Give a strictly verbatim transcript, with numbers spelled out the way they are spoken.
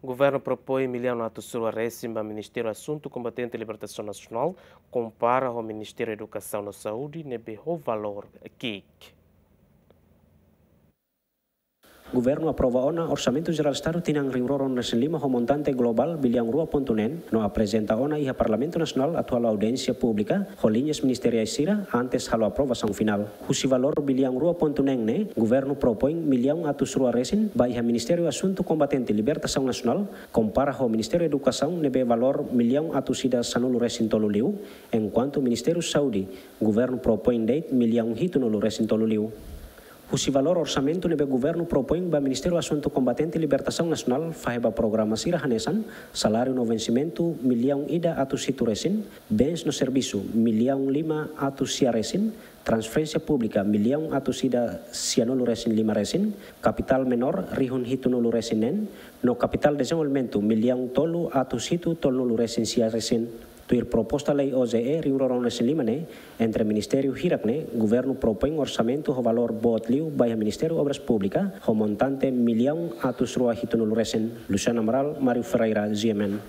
Governu propoin millaun atus rua resin ba Ministériu Asuntu Kombatente Libertasaun Nasionál, kompara ho Ministériu Edukasaun no Saúde ne'ebé ho valór ki'ik. Governu aprova ona Orsamentu Jerál Estadu tinan rihun rua ruanulu-resin-lima ho montante globál billaun rua pontu neen, no aprezenta ona iha Parlamentu Nasionál atu halo audiénsia públika ho liñas ministeriais sira antes halo aprovasaun finál. Husi valór billaun rua pontu neen ne'e, governu propoin millaun atus rua resin ba iha Ministériu Asuntu Kombatente Libertasaun Nasionál, kompara ho Ministériu Edukasaun ne'ebé valór millaun atus ida sanulu-resin-tolu liu, enkuantu Ministériu Saúde, governu propoin de'it millaun hitunulu-resin-tolu liu. Husi valór orsamentu ne'ebé governu propoin ba Ministériu Asuntu Kombatente Libertasaun Nasionál fahe ba programa sira hanesan saláriu no vensimentu millaun ida atus hitu resin, bens no servisu millaun lima atus sia resin, transferénsia públika millaun atus ida sianulu-resin-lima resin, kapitál menór rihun hitunulu-resin-neen, no kapitál dezenvolvimentu millaun tolu atus hitu tolunulu-resin-sia resin. Tuir proposta lei O J E rihun rua ruanulu-resin-lima ne'e, entre ministériu hirak ne'e, governu propoin orsamentu ho valór boot liu ba iha Ministériu Obras Públikas ho montante millaun atus rua hitunulu resin. Luciano Amaral, Mário Ferreira, G M N.